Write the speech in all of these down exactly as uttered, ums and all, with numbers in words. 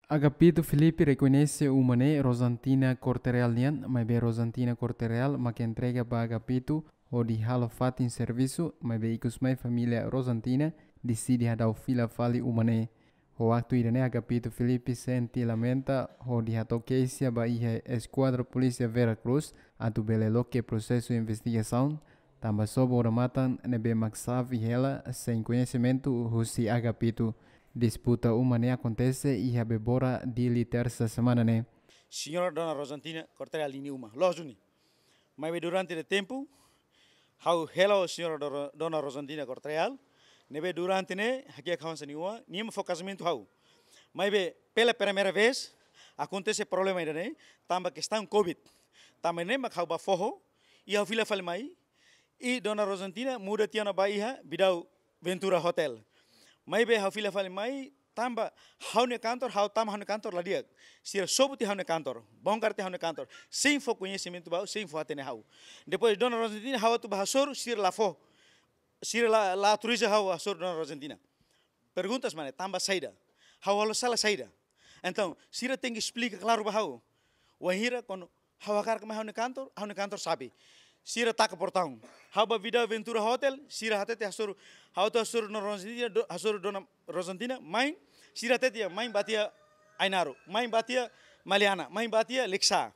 Agapito Filipe rekoñese uma ne'e Rosantina Corte-Real nian, maibé Rosantina Corte-Real mak entrega ba Agapito hodi halo fatin servisu, maibé ikus mai família Rosantina deside hadau fila fali uma ne'e. Ho aktu ida-ne'e Agapito Filipe sente lamenta hodi hato'o keixa ba iha Eskuadra Polísia Vera Cruz atu bele loke prosesu investigasaun, tanba sobu odamatan ne'ebé mak xave hela sein koñesimentu husi Agapito. Disputa uma ne'e akontese iha Bebora Dili tersa semana ne'e. Señora Dona Rosantina Corte-Real ninia uma, loos duni. Maibé durante de tempu, ha'u hela ho Señora Dona Rosantina Corte-Real, ne'ebé durante ne'e hakiak hanesan nia oan, nia mak fó kazamentu ha'u. Maibé pela primeira vez akontese problema ida-ne'e, tanba kestaun covid. Tanba ne'e mak ha'u bá foho, i ha'u fila fali mai, i Dona Rosantina muda tiha ona ba iha Bidau Ventura Hotel. Maibé ha'u fila fali mai, tanba ha'u-nia kantor, ha'u tama ha'u-nia kantor la di'ak. Sira sobu tiha ha'u-nia kantor, bongkar tiha ha'u-nia kantor, sein fó koñesimentu ba ha'u, sein fó hatene ha'u. Depois Dona Rosantina, ha'u atu bá hasoru, sira la fó, sira la, la autoriza ha'u hasoru Dona Rosantina. Perguntas mana, tanba saida? Ha'u halo sala saida? Entaun sira tenke esplika klaru ba ha'u. Wainhira kuandu ha'u hakarak mai ha'u-nia kantor, ha'u-nia kantor xave. Sira taka portaun. Ha'u bá Bidau Ventura Hotel, sira hatete hasoru, ha'u atu hasoru Dona Rosantina, do-, hasoru Dona Rosantina, mai, sira hatete mai ba tiha Ainaro, mai ba tiha Maliana, mai ba tiha Likisá.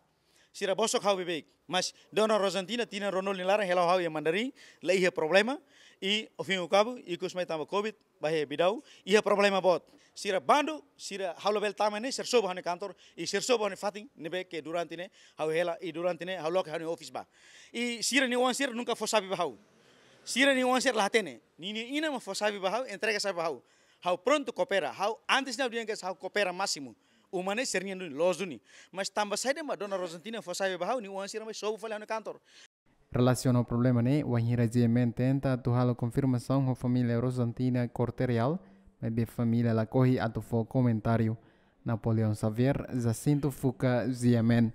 Sira bosok ha'u beibeik. Mas Dona Rosantina, tinan ruanulu nia laran hela ho ha'u iha Mandarin, la iha problema, i ao fim e ao cabo, ikus mai tanba covid, bá iha Bidau, iha problema boot. Sira bandu, sira ha'u labele tama ne'e, sira sobu ha'u-nia kantor, i sira sobu ha'u-nia fatin, ne'ebé ke durante ne'e ha'u hela, i durante ne'e ha'u loke ha'u-nia office bá. I sira-nia oan sira nunka fó xave ba ha'u. Sira-nia oan sira la hatene. Ninia inan mak fó xave ba ha'u, entrega xave ba ha'u. Ha'u prontu koopera, ha'u antes ne'e ha'u dehan katak ha'u koopera másimu. Uma ne'e sira-nian duni, loos duni. Mas tanba saida mak Dona Rosantina fó xave ba ha'u, nia oan sira mai sobu fali ha'u-nia kantor? Relasiona ho problema ne'e, wainhira G M N tenta atu halo konfirmasaun ho família Rosantina Corte-Real, maibé família lakohi atu fó komentáriu. Napoleão Xavier, Jacinto Fuca, G M N.